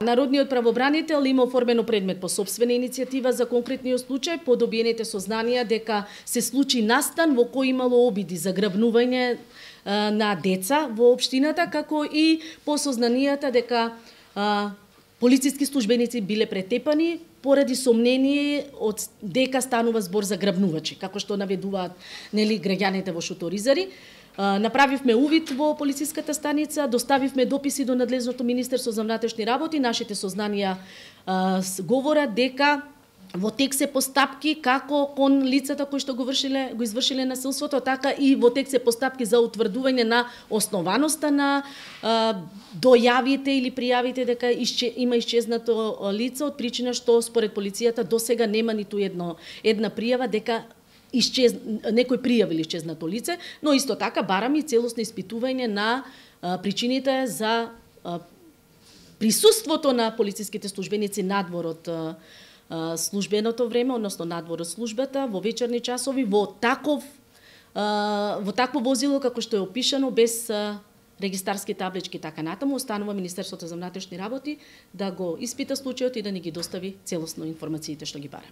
Народниот правобранител има оформено предмет по сопствена иницијатива за конкретниот случај по добиените сознанија дека се случи настан во кој имало обиди за грабнување на деца во општината, како и по сознанијата дека полициски службеници биле претепани поради сомнение од дека станува збор за грабнувачи, како што наведуваат граѓаните во Шуторизари. Направивме увид во полициската станица, доставивме дописи до надлежното Министерство за внатрешни работи, нашите сознанија говорат дека во тек се постапки како кон лицата кои што го извршиле насилството, така и во тек се постапки за утврдување на основаноста на дојавите или пријавите дека има исчезнато лице, од причина што според полицијата досега нема ниту една пријава дека некој пријавил исчезнато лице, но исто така бараме и целосно испитување на причините за присуството на полициските службеници надвор од службеното време, односно надвор од службата, во вечерни часови, во такво возило како што е опишано, без регистарски таблички, така натаму. Останува Министерството за внатрешни работи да го испита случајот и да ни ги достави целосно информациите што ги бараме.